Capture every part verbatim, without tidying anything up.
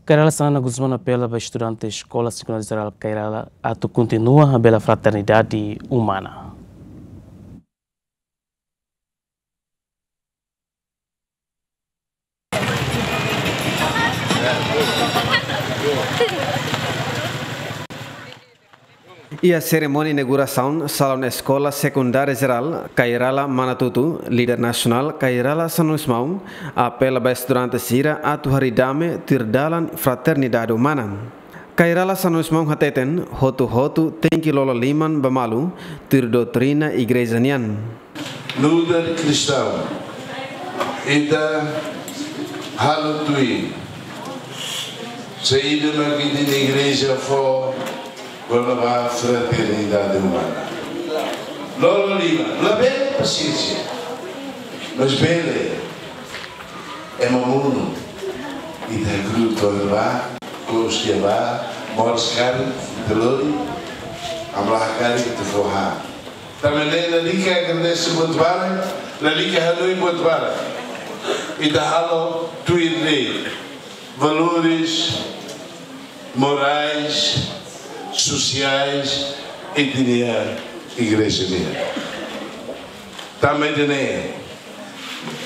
Kay Rala Xanana Gusmão apela ba estudante Eskola Sekundária Jerál Kay Rala atu kontinua bele fraternidade umana. Iha serimónia inaugurasaun Salaun Eskola Sekundária Jerál Kay Rala Manatutu, líder nasionál Kay Rala Xanana Gusmão apela ba estudante sira atu harii dame tuir dalan fraternidade umana. Kay Rala Xanana Gusmão hateten, hotu-hotu tenke lolo liman ba malu tuir doutrina igreja nian. Nu'udar kristaun, ita halo tuir saida mak ita-nia igreja fó kona-ba fraternidade umana. Lolo liman, labele pasiénsia, mas bele ema monu, ita grupu ba, kous ke ba, moris karik, ita lori, ami la hakarak ita fó han. Tanba ne'e lalika agradese buat barak, lalika hanoin buat barak. Ita halo tuir lei, valores morais, sosiais, ita-nia igreja nian. Tanba ida-ne'e,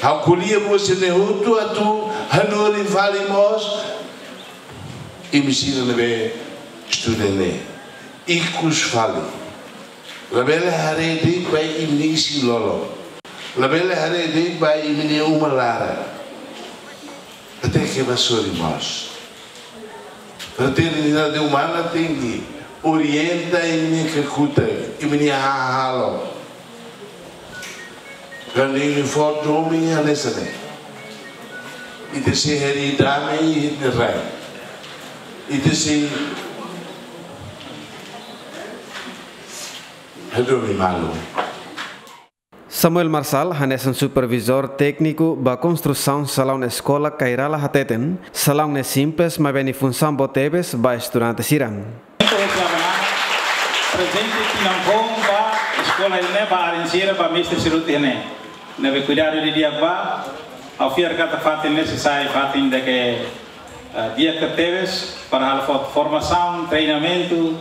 ha'u ko'alia ba sira-ne'e hotu atu hanorin fali mós, imi sira ne'ebé estuda ne'e, ikus fali. Labele haree de'it ba imi-nia isin-lolon. Labele haree de'it ba imi-nia uma laran. Até ke ba sorin mós. Fraternidade umana tenke orienta imi-nia kakutak, imi-nia hahalok. Kuandu imi fó domin hanesan ne'e, ita sei harii dame iha ita-nia rai. Ita sei hadomi malu. Samuel Marçal, hanesan supervizór tékniku ba konstrusaun salaun eskola Kay Rala hateten, salaun ne'e simples, maibé nia funsaun boot tebes ba estudante sira. Prezente tinan foun ba eskola ne'e, ba alin sira, ba mestre sira hotu ne'e. Ne'ebé kuidadu didi'ak ba, ha'u fiar katak fatin ne'e sei sai fatin ida ke, eh, di'ak tebes para halo fo-, formasaun, treinamentu,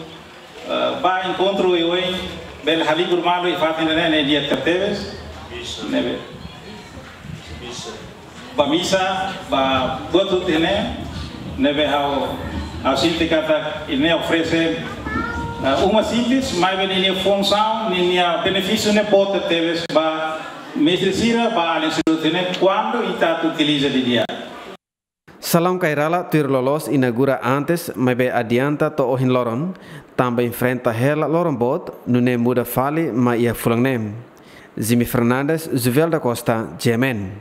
eh, ba enkontru oioin, bele halibur malu iha fatin ne'e, ne'e di'ak tebes. Ne'ebé ba misa, ba buat hotu ne'e, ne'ebé ha'u, ha'u sente katak ida-ne'e oferese, eh, uma simples, maibé ninia funsaun, ninia benefísiu ne'e boot tebes ba mestre sira, ba alin sira hotu ne'e, kuandu ita atu utiliza didi'ak. Salaun Kay Rala tuir loloos inaugura antes, maibé adianta to'o ohin loron, tanba enfrenta hela loron boot, nune'e muda fali mai iha fulan ne'e. Jimmy Fernandes, Juvel da Costa, G M N.